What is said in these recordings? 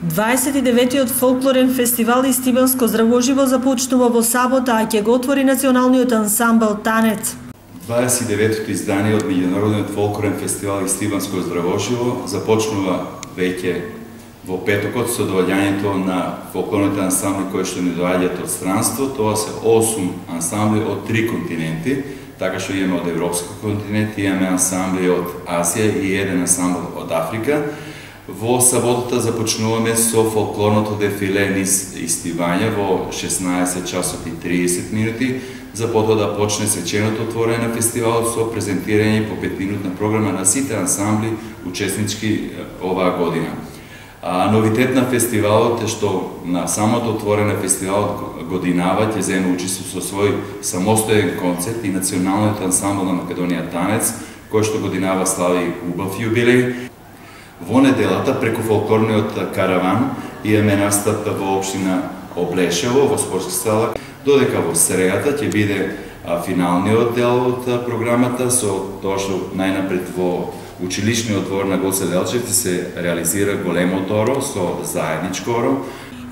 29-тиот фолклорен фестивал Истибанско здравоживо започнува во сабота, а ќе го отвори националниот ансамбл Танец. 29-тото издание од меѓународниот фолклорен фестивал Истибанско здравоживо започнува веќе во петокот со доаѓањето на фолклорните ансамбли кои што ни доаѓаат од странство. Тоа се 8 ансамбли од 3 континенти, така што имаме од европскиот континент, имаме ансамбли од Азија и еден ансамбл од Африка. Во саботата започнуваме со фолклорното дефиле низ Истивања во 16 часот и 30 минути, за потоа да почне свеченото отворење на фестивалот со презентирање по 5-минутна програма на сите ансамбли учеснички оваа година. Новитет на фестивалот е што на самото отворење на фестивалот годинава ќе земе учество со свој самостоен концерт и националниот ансамбл на Македонија Танец, кој што годинава слави убав јубилеј. Во неделата, преку фолклорниот караван, имаме настап во општина Облешево, во спортска сала, додека во срејата ќе биде финалниот дел од програмата, со тоа што најнапред во училишниот двор на Гоце Делчевци се реализира големо торо со заедничко оро.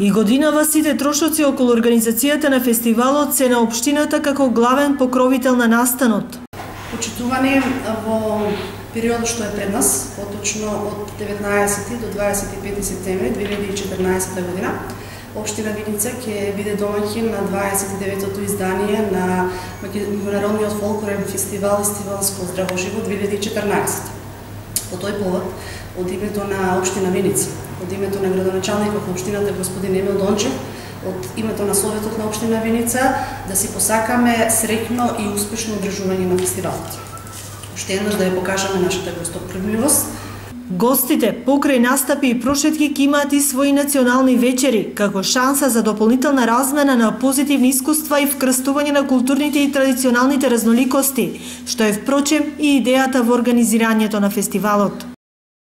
И годинава сите трошоци околу организацијата на фестивалот се на општината како главен покровител на настанот. Почитувани во периодот што е пред нас, поточно од 19 до 25 септември 2014 година, општина Виница ќе биде домаќин на 29-тото издание на меѓународниот фолклорен фестивал Истибанско здравоживо 2014. По тој повод, од името на општина Виница, од името на градоначалникот на општината господин Емил Дончев, од името на Советот на општина Виница, да си посакаме среќно и успешно одржување на фестивалот. Уште еднаш да ја покажаме нашата гостопримливост. Гостите, покрај настапи и прошетки, ќе имаат и своји национални вечери, како шанса за дополнителна размена на позитивни искуства и вкрстување на културните и традиционалните разноликости, што е впрочем и идејата во организирањето на фестивалот.